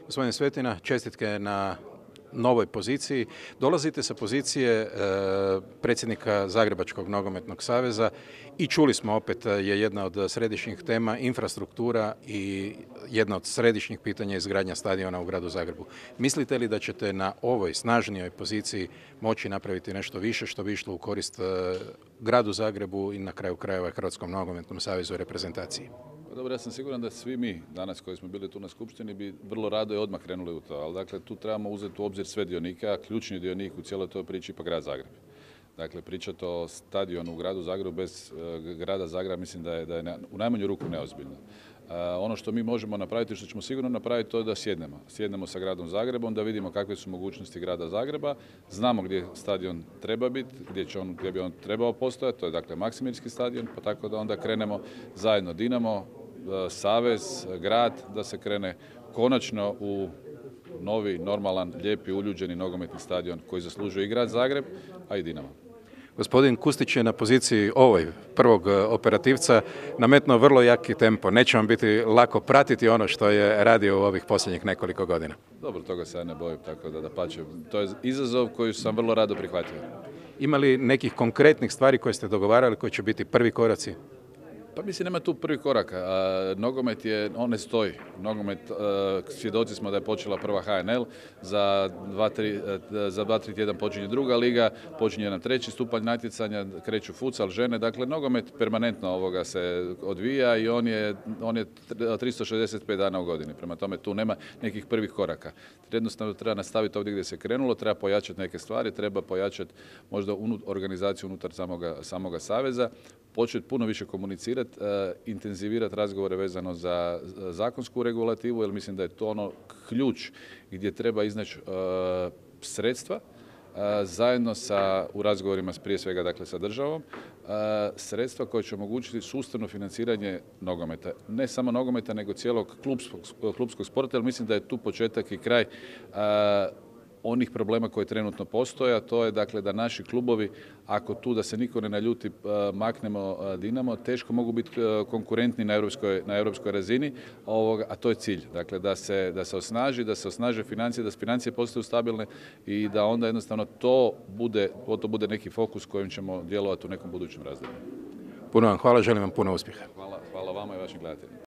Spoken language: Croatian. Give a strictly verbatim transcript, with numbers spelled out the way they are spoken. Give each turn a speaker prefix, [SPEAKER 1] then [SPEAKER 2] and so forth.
[SPEAKER 1] Gospodine Svetina, čestitke na novoj poziciji. Dolazite sa pozicije e, predsjednika Zagrebačkog nogometnog saveza i čuli smo opet je jedna od središnjih tema infrastruktura i jedna od središnjih pitanja je izgradnja stadiona u gradu Zagrebu. Mislite li da ćete na ovoj snažnijoj poziciji moći napraviti nešto više što bi išlo u korist e, gradu Zagrebu i na kraju krajeva Hrvatskom nogometnom savezu i reprezentaciji?
[SPEAKER 2] Dobro, ja sam siguran da svi mi danas koji smo bili tu na skupštini bi vrlo rado i odmah krenuli u to, ali dakle tu trebamo uzeti u obzir sve dionike, a ključni dionik u cijeloj toj priči pa grad Zagreb. Dakle, pričati o stadionu u gradu Zagrebu bez uh, grada Zagreba mislim da je, da je ne, u najmanju ruku neozbiljno. Uh, ono što mi možemo napraviti, što ćemo sigurno napraviti, to je da sjednemo. Sjednemo sa gradom Zagrebom, da vidimo kakve su mogućnosti grada Zagreba, znamo gdje stadion treba biti, gdje, će on, gdje bi on trebao postojati, to je dakle Maksimirski stadion, pa tako da onda krenemo zajedno Dinamo, savez, grad, da se krene konačno u novi, normalan, lijepi, uljuđeni nogometni stadion koji zaslužuje i grad Zagreb, a i Dinamo.
[SPEAKER 1] Gospodin Kustić je na poziciji ovoj prvog operativca nametnuo vrlo jaki tempo. Neće vam biti lako pratiti ono što je radio u ovih posljednjih nekoliko godina.
[SPEAKER 2] Dobro, toga se ja ne bojim, tako da dapače. To je izazov koji sam vrlo rado prihvatio.
[SPEAKER 1] Ima li nekih konkretnih stvari koje ste dogovarali koji će biti prvi koraci?
[SPEAKER 2] Pa mislim, nema tu prvi korak. A, nogomet je, on ne stoji. Nogomet, a, svjedoci smo da je počela prva H N L, za dva, tri, a, za dva, tri tjedan počinje druga liga, počinje nam treći stupanj natjecanja, kreću futsal, žene. Dakle, nogomet permanentno ovoga se odvija i on je, on je tristo šezdeset pet dana u godini. Prema tome, tu nema nekih prvih koraka. Jednostavno treba nastaviti ovdje gdje se krenulo, treba pojačati neke stvari, treba pojačati možda unut, organizaciju unutar samoga, samoga saveza, početi puno više komunicirati, Uh, intenzivirati razgovore vezano za uh, zakonsku regulativu, jer mislim da je to ono ključ gdje treba iznaći uh, sredstva uh, zajedno sa, u razgovorima prije svega dakle, sa državom, uh, sredstva koje će omogućiti sustavno financiranje nogometa. Ne samo nogometa, nego cijelog klubskog, klubskog sporta, jer mislim da je tu početak i kraj uh, onih problema koje trenutno postoje, a to je dakle da naši klubovi, ako tu da se niko ne naljuti, maknemo Dinamo, teško mogu biti konkurentni na europskoj, na europskoj razini, a to je cilj. Dakle, da se, da se osnaži, da se osnaže financije, da financije postaju stabilne i da onda jednostavno to bude, to bude neki fokus kojim ćemo djelovati u nekom budućem razdoblju.
[SPEAKER 1] Puno vam hvala, želim vam puno uspjeha.
[SPEAKER 2] Hvala, hvala vama i vašim gledateljima.